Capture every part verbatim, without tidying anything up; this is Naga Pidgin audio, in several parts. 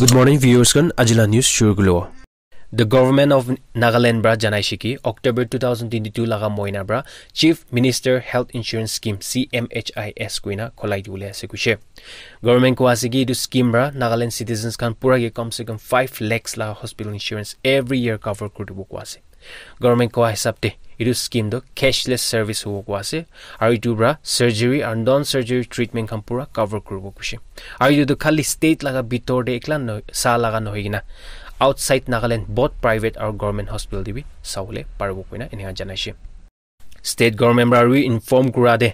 Good morning, viewers khan. Ajila news shuru kulo. The Government of Nagaland pra janaishe ki October two thousand twenty-two laga moina pra Chief Minister Health Insurance Scheme, C M H I S, koina kholai dibole ase kuishe. Government koa ase ki etu scheme pra Nagaland citizens khan pura ke kam se kam five lakhs la hospital insurance every year cover kuri dibo koa ase. Government koa hisab te etu scheme tu cashless service hobo koa ase, aru etu pra surgery aru non surgery treatment khan pura cover kuribo kuishe. Aru etu tu khali state laga bitor te ekla no sa laga nohoi kena outside Nagaland both private aru government hospital te bi sabole paribo koina enika janaishe. State government pra bi inform kura te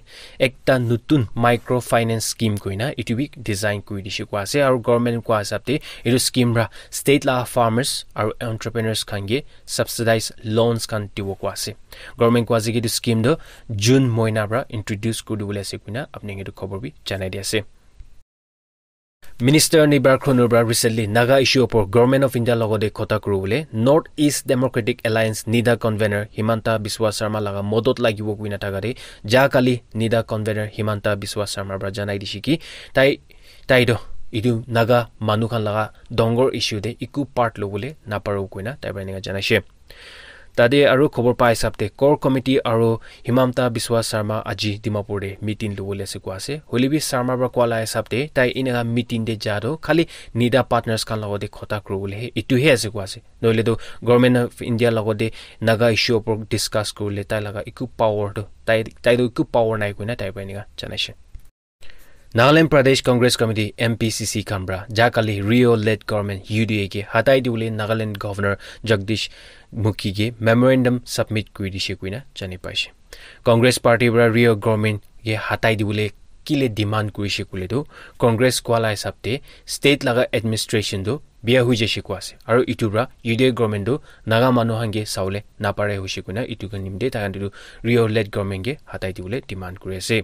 ekta nutun microfinance scheme koina etu bi design kuri dishe koa ase, aru government koa hisab te etu scheme pra state laga farmers aru entrepreneurs khan ke subsidized loans khan dibo koa ase. Government koa ase ki etu scheme tu June moina pra introduce kuri dibole ase koina apni khan etu khobor bi janai di ase. Minister Nibar Khonur pra recently Naga issue opor Government of India logote khota kuribole North East Democratic Alliance NEDA convener Himanta Biswa Sarma laga modot lagibo koina thaka te ja kali NEDA convener Himanta Biswa Sarma pra janai dishe ki tai tai to etu Naga manu khan laga dangor issue te eku part lobole naparo koina tai pra enika janaishe. Tate aru khobor pa hisab te core committee aru Himanta Biswa Sarma aji Dimapur te meeting lobole ase koa ase. Hoile bi Sarma pra koa la hisab te tai enika meeting te ja to khali NEDA partners khan logote khota kuribole he etu he ase koa ase. Nohole to Government of India logote Naga issue opor discuss kuribole tai laga eku power to tai tai to eku power nai koina tai pra enika janaishe. Nagaland Pradesh Congress Committee, N P C C, khan pra ja kali Rio led government U D A ke hatai dibole Nagaland Governor Jagdish Mukhi ke memorandum submit kuri dishe koina jani paishe. Congress party pra Rio government ke hatai dibole kile demand kurishe koile tu Congress koa la hisab te state laga administration tu bia hui jaishe koa ase, aru etu pra U D A government tu Naga manu khan ke sabole napare hoishe koina etu ka nimite tai khan tu Rio led government ke hatai dibole demand kuri ase.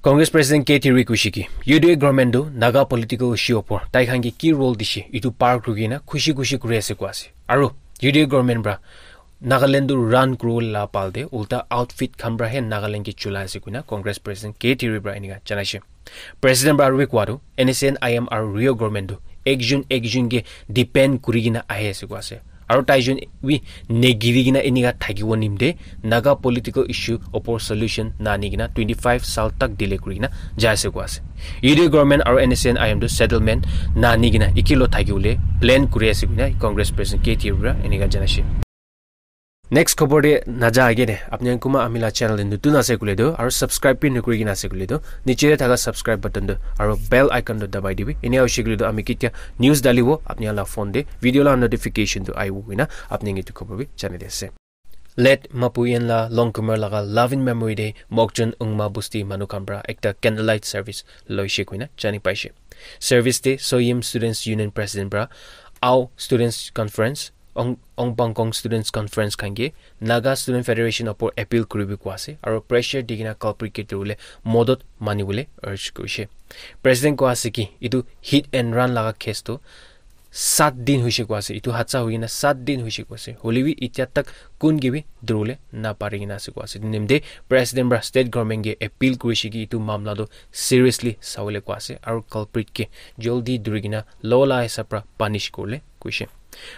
Congress President K T Roy koishe ki U D A government tu Naga political issue opor tai khan ke ki role dishe etu par kuri kena khushi khushi kuri ase koa ase, aru U D A government pra Nagaland tu run kuribole la pal te ulta outfit khan pra he Nagaland ke chulai ase koina Congress President K T Roy pra enika janaishe. President pra aru bi koa tu N S C N I M aru Rio government tu ekjon ekjon ke depend kuri kena ahi ase koa ase, aru tai jon bi negiri kena enika thakibo nimite Naga political issue opor solution nani kena twenty five sal tak delay kuri kena jai ase koa ase. U D A government aru N S C N I M tu settlement nani kena ekilo thakibole plan kuri ase koina Congress President K T Roy pra enika janaishe. Next khobor te naja age de apni khan kunba ami la channel te nutun ase koile tu aru subscribe bi nokuri kena ase koile tu niche te thaka subscribe button tu aru bell icon tu dabai dibi. Enia hoishe koile tu ami ketia news dalibo apni khan la phone te video la notification tu ahibo koina apni khan etu khobor bi jani di ase. Late Mapuyen la Longkumer laga loving memory te Mokchung Ungma Busti manu khan pra ekta candlelight service loishe koina jani paishe. Service te Soyim Students Union President pra Ao Students Conference, Ong Ong Pangkong Students Conference khan ke Naga Student Federation opor appeal kuribi koa ase aru pressure di kena culprit ke duribole modot manibole urge kurishe. President koa ase ki etu hit and run laga case tu sat din hoishe koa ase, etu hadsa hoi kena sat din hoishe koa ase, hoile bi etia tak kun ke bi duribole napari kena ase koa ase. Etu nimite President pra state government ke appeal kurishe ki etu mamla tu seriously sabole koa ase aru culprit ke jaldi duri kena law la hisab pra punish kuribole koishe.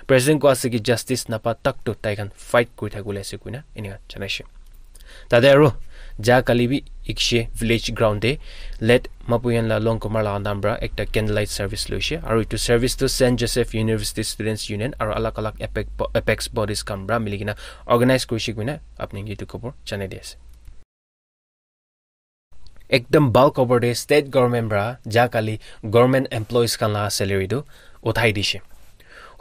President koa ase ki justice napa tak to tai khan fight kuri thakibole ase koina enika janaishe. Tate aru ja kali bi Ikshe village ground te late Mapuyen la Longkumer la nam pra ekta candlelight service loishe aru etu service tu Saint Joseph University Students Union aru alag alag apex, apex bodies khan pra mili kena organize kurishe koina apni khan etu khobor janai di ase. Ekdam bhal khobor de state government pra ja kali government employees khan la salary tu uthai dishe.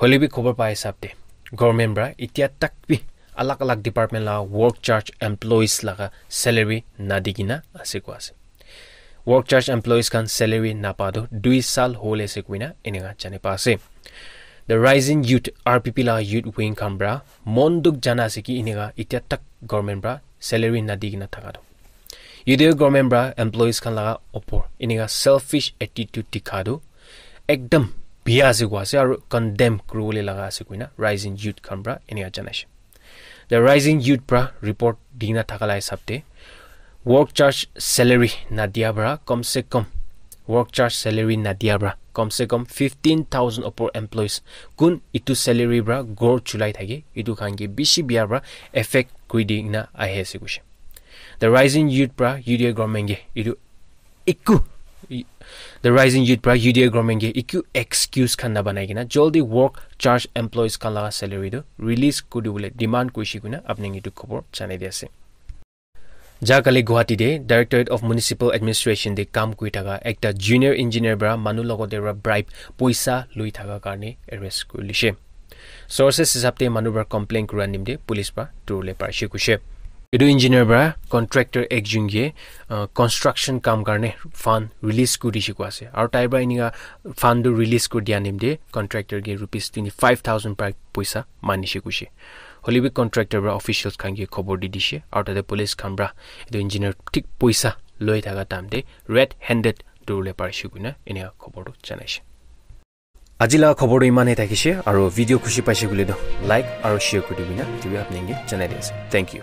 Hoile bi khobor pa hisab de government pra etia tak bi alag alag department la work charge employees laga salary nadi kena ase koa ase. Work charge employees khan salary napa tu dui sal hole ase koina enika jani pa ase. The Rising Youth, R P P la youth wing khan pra mon dukh jana ase ki enika etia tak government pra salary nadi kena thaka tu. U D A government pra employees khan laga opor enika selfish attitude dikha tu ekdam biya ase koa ase aru condemn kuribole laga ase koina Rising Youth khan pra enika janaishe. The Rising Youth pra report dina thaka la hisab te work charge salary nadia pra kom se kom work charge salary nadia pra Kom se kom fifteen thousand upor employees kun itu salary pra ghor chulai thake, itu khan ke bishi bia pra affect kuri di na ahi ase kuishe. The rising youth pra U D A government ke itu eku the rising youth pra U D A government ke eku excuse khan na banai kena jaldi work charge employees khan laga salary tu release kuri dibole demand kurishe koina apni khan ke itu khobor janai di ase. Ja kali Guwahati te Directorate of Municipal Administration te kam kuri thaka ekta junior engineer pra manu logote pra bribe poisa lui thaka karne arrest kuri lishe. Sources hisab te manu pra complain kura nimte police pra durule parishe kuishe. Etu engineer pra contractor ekjon ke uh, construction kam karne fund release kuri dishe koi ase. Aru tai pra enika fund tu release kuri dia nimte contractor ke rupees twenty five thousand pra poisa manishe kuishe. Hoilebi contractor pra officials khan ke khobor di dishe aru tate police khan pra etu engineer thik poisa loi thaka time te red handed durule parishe koina enika khobor tu janaishe. Aji laga khobor tu iman he thakishe aru video khushi paishe koile tu like aru share kuri dibina etu bi apni ke janai di ase. Thank you.